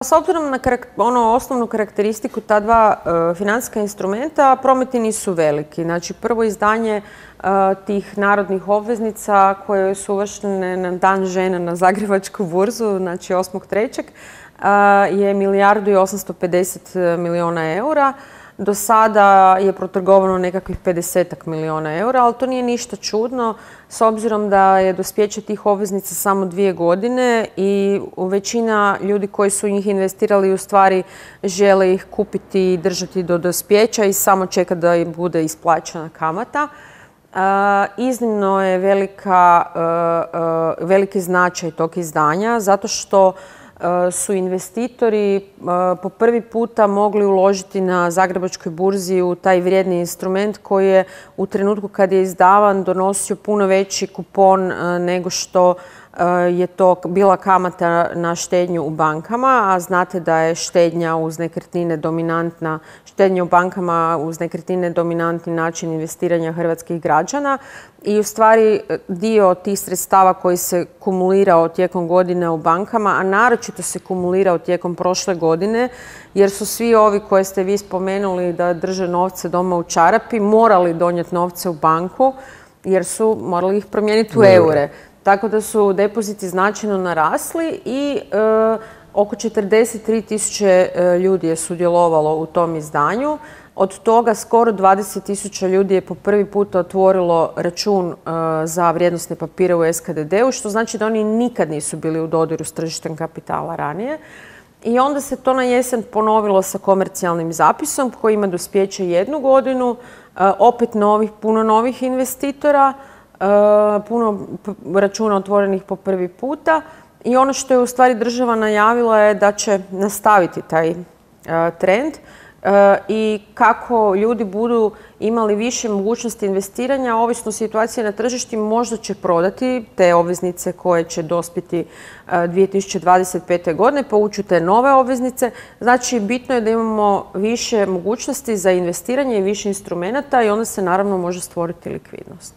S obzirom na osnovnu karakteristiku ta dva financijska instrumenta, prometi nisu veliki. Znači, prvo izdanje tih narodnih obveznica koje su uvrštene na Dan žena na Zagrebačku burzu, znači 8.3. je 1.850 milijuna eura. Do sada je protrgovano nekakvih 50 milijuna eura, ali to nije ništa čudno s obzirom da je dospijeće tih obveznica samo 2 godine i većina ljudi koji su njih investirali u stvari žele ih kupiti i držati do dospijeća i samo čeka da im bude isplaćena kamata. Iznimno je veliki značaj tog izdanja zato što su investitori po prvi puta mogli uložiti na Zagrebačkoj burzi u taj vrijedni instrument koji je u trenutku kad je izdavan donosio puno veći kupon nego što je to bila kamata na štednju u bankama, a znate da je štednja uz nekretnine dominantna, štednja u bankama uz nekretnine dominantni način investiranja hrvatskih građana i u stvari dio tih sredstava koji se kumulirao tijekom godine u bankama, a naročito se kumulirao tijekom prošle godine, jer su svi ovi koje ste vi spomenuli da drže novce doma u čarapi morali donijeti novce u banku jer su morali ih promijeniti u eure. Tako da su depoziti značajno narasli i oko 43.000 ljudi je sudjelovalo u tom izdanju. Od toga skoro 20.000 ljudi je po prvi puta otvorilo račun za vrijednosne papire u SKDD-u, što znači da oni nikad nisu bili u dodiru s tržištem kapitala ranije. I onda se to na jesen ponovilo sa komercijalnim zapisom koji ima dospijeće 1 godinu, opet puno novih investitora, puno računa otvorenih po prvi puta i ono što je u stvari država najavila je da će nastaviti taj trend i kako ljudi budu imali više mogućnosti investiranja, ovisno situacije na tržištu, možda će prodati te obveznice koje će dospjeti 2025. godine, povući te nove obveznice. Znači, bitno je da imamo više mogućnosti za investiranje i više instrumenata i onda se naravno može stvoriti likvidnost.